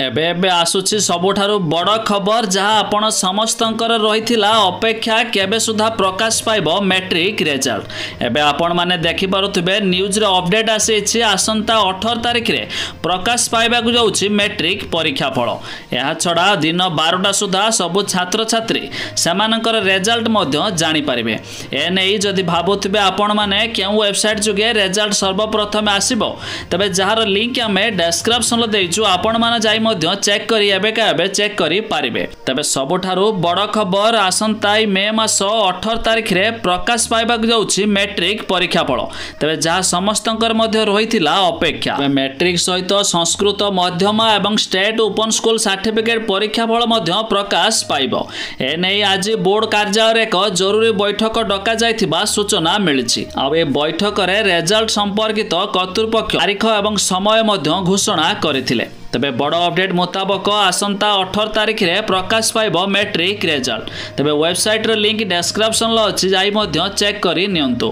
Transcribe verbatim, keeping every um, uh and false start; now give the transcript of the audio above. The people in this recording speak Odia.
ଏବେ ଏବେ ଆସୁଛି ସବୁଠାରୁ ବଡ଼ ଖବର, ଯାହା ଆପଣ ସମସ୍ତଙ୍କର ରହିଥିଲା ଅପେକ୍ଷା, କେବେ ସୁଦ୍ଧା ପ୍ରକାଶ ପାଇବ ମେଟ୍ରିକ୍ ରେଜଲ୍ଟ। ଏବେ ଆପଣମାନେ ଦେଖିପାରୁଥିବେ ନ୍ୟୁଜ୍ରେ ଅପଡେଟ୍ ଆସିଛି, ଆସନ୍ତା ଅଠର ତାରିଖରେ ପ୍ରକାଶ ପାଇବାକୁ ଯାଉଛି ମେଟ୍ରିକ୍ ପରୀକ୍ଷା ଫଳ। ଏହାଛଡ଼ା ଦିନ ବାରଟା ସୁଦ୍ଧା ସବୁ ଛାତ୍ରଛାତ୍ରୀ ସେମାନଙ୍କର ରେଜଲ୍ଟ ମଧ୍ୟ ଜାଣିପାରିବେ। ଏନେଇ ଯଦି ଭାବୁଥିବେ ଆପଣମାନେ କେଉଁ ୱେବସାଇଟ୍ ଯୋଗେ ରେଜଲ୍ଟ ସର୍ବପ୍ରଥମେ ଆସିବ, ତେବେ ଯାହାର ଲିଙ୍କ ଆମେ ଡେସ୍କ୍ରିପସନ୍ରେ ଦେଇଛୁ, ଆପଣମାନେ ଯାଇ ମଧ୍ୟ ଚେକ୍ କରି ଏବେକା ଏବେ ଚେକ୍ କରିପାରିବେ। ତେବେ ସବୁଠାରୁ ବଡ଼ ଖବର, ଆସନ୍ତା ମେ ମାସ ଅଠର ତାରିଖରେ ପ୍ରକାଶ ପାଇବାକୁ ଯାଉଛି ମେଟ୍ରିକ୍ ପରୀକ୍ଷା ଫଳ। ତେବେ ଯାହା ସମସ୍ତଙ୍କର ମଧ୍ୟ ରହିଥିଲା ଅପେକ୍ଷା, ମେଟ୍ରିକ୍ ସହିତ ସଂସ୍କୃତ ମଧ୍ୟମା ଏବଂ ଷ୍ଟେଟ୍ ଓପନ୍ ସ୍କୁଲ ସାର୍ଟିଫିକେଟ୍ ପରୀକ୍ଷା ଫଳ ମଧ୍ୟ ପ୍ରକାଶ ପାଇବ। ଏନେଇ ଆଜି ବୋର୍ଡ କାର୍ଯ୍ୟାଳୟରେ ଏକ ଜରୁରୀ ବୈଠକ ଡକାଯାଇଥିବା ସୂଚନା ମିଳିଛି। ଆଉ ଏ ବୈଠକରେ ରେଜଲ୍ଟ ସମ୍ପର୍କିତ କର୍ତ୍ତୃପକ୍ଷ ତାରିଖ ଏବଂ ସମୟ ମଧ୍ୟ ଘୋଷଣା କରିଥିଲେ। ତେବେ ବଡ଼ ଅପଡେଟ୍ ମୁତାବକ ଆସନ୍ତା ଅଠର ତାରିଖରେ ପ୍ରକାଶ ପାଇବ ମେଟ୍ରିକ୍ ରେଜଲ୍ଟ। ତେବେ ୱେବସାଇଟ୍ର ଲିଙ୍କ ଡେସ୍କ୍ରିପସନ୍ରେ ଅଛି, ଯାଇ ମଧ୍ୟ ଚେକ୍ କରି ନିଅନ୍ତୁ।